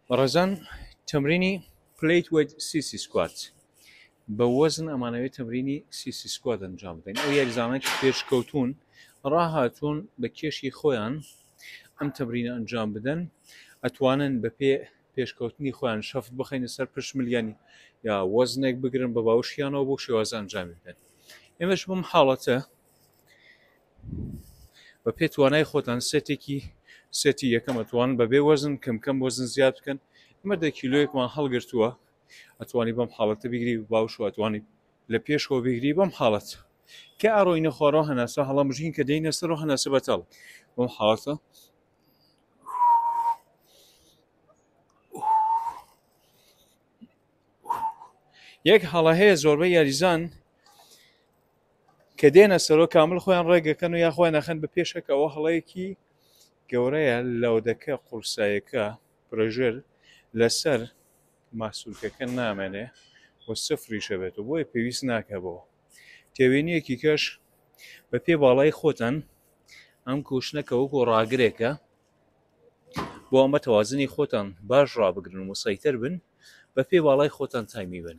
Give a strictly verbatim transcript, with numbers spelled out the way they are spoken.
بەڕێزان، تەمرینی plate weight sissy squat. بە وەزن ئەمانەوێت تەمرینی sissy squat ئەنجام بدەین. ئەو یاریزانە کە پێشکەوتون ڕاهاتوون بە کێشی خۆیان ئەم تەمرینە ئەنجام بدەن، ئەتوانن بە پێ پێشکەوتنی خۆیان شەفت بخەینە سەر پشت ملیانی یا وەزنێک بگرن بە باوشیانەوە بۆ شێوازە ئەنجامی بدەن. ئێمەش بەم حاڵەتە بە پێ توانای خۆتان سێتێکی سێتی یەکەم ئەتوان بەبێ وەزن کەم کەم وەزن زیاد بکەن. ئەمە دە کیلۆیەکمان هەڵگرتووە، ئەتوانی بەم حاڵەتە بگری باوش و ئەتوانی لە پێشەوە بگری بەم حاڵەت کە ئەڕۆینە خوارەوە هەناسە هەڵەمژین کە دێینە سەرەوە هەناسە بەتاڵ بەم حاڵەتە. یەک هەڵە هەیە زۆربەی یاریزان کە دێنە سەرۆ کامل خۆیان ڕێگەکەن و یا خۆیان نەخەن بە پێشەکەەوە، هەڵەیەکی گەورەیە. لەودەکە قورسایەکە pressure لەسەر ماسولکەکە نامێنێ و سفریشە بێت و بۆیە پێویست ناکە بۆ تێوێنیەکی کەش بە پێ باڵای خۆتان ئەم cushion ە کە وەکو ڕاگرێکە بۆ ئەمە تەوازنی خۆتان باش ڕابگرن و مسەیتەر بن، بە پێ باڵای خۆتان تایمی بن.